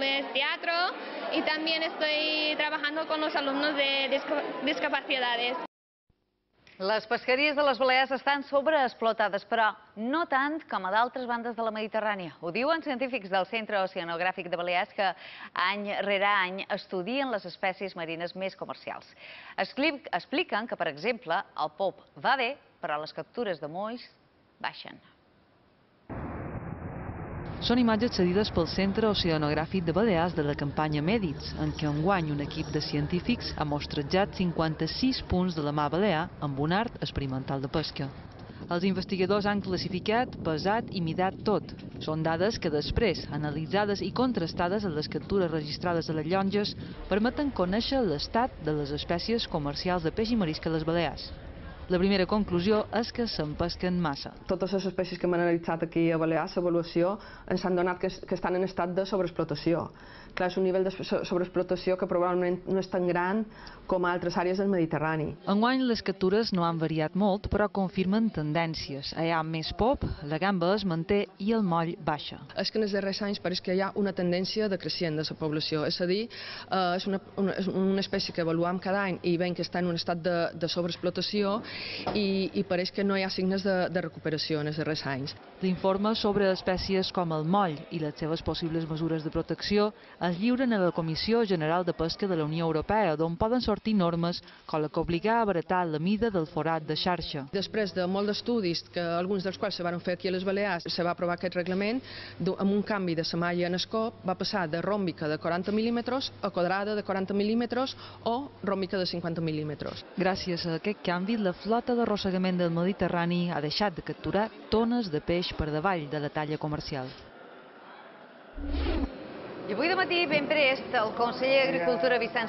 pues teatro y también estoy trabajando con los alumnos de discapacidades. Les pesqueries de les Balears estan sobreexplotades, però no tant com a d'altres bandes de la Mediterrània. Ho diuen científics del Centre Oceanogràfic de Balears que any rere any estudien les espècies marines més comercials. Expliquen que, per exemple, el pop va bé, però les captures de molls baixen. Són imatges cedides pel Centre Oceanogràfic de Balears de la campanya Mèdits, en què enguany un equip de científics ha mostrejat 56 punts de la mar balear amb un art experimental de pesca. Els investigadors han classificat, pesat i midat tot. Són dades que després, analitzades i contrastades en les captures registrades a les llonges, permeten conèixer l'estat de les espècies comercials de peix i marisc a les Balears. La primera conclusió és que se'n pesquen massa. Totes les espècies que hem analitzat aquí a Balears, l'avaluació, ens han donat que estan en estat de sobreexplotació. Clar, és un nivell de sobreexplotació que probablement no és tan gran com a altres àrees del Mediterrani. Enguany les captures no han variat molt, però confirmen tendències. Hi ha més pop, la gamba es manté i el moll baixa. És que en els darrers anys pareix que hi ha una tendència decreixent de la població, és a dir, és una espècie que avaluam cada any i veiem que està en un estat de sobreexplotació i pareix que no hi ha signes de recuperació en els darrers anys. L'informe sobre espècies com el moll i les seves possibles mesures de protecció es lliuren a la Comissió General de Pesca de la Unió Europea, d'on poden sortir normes com la que obligar a abaratar la mida del forat de xarxa. Després de molts d'estudis, alguns dels quals se van fer aquí a les Balears, se va aprovar aquest reglament amb un canvi de la malla en escop, va passar de ròmbica de 40 mil·límetres a quadrada de 40 mil·límetres o ròmbica de 50 mil·límetres. Gràcies a aquest canvi, la flota d'arrossegament del Mediterrani ha deixat de capturar tones de peix per davall de la talla comercial. I avui de matí, ben prest, el conseller d'Agricultura, Vicenç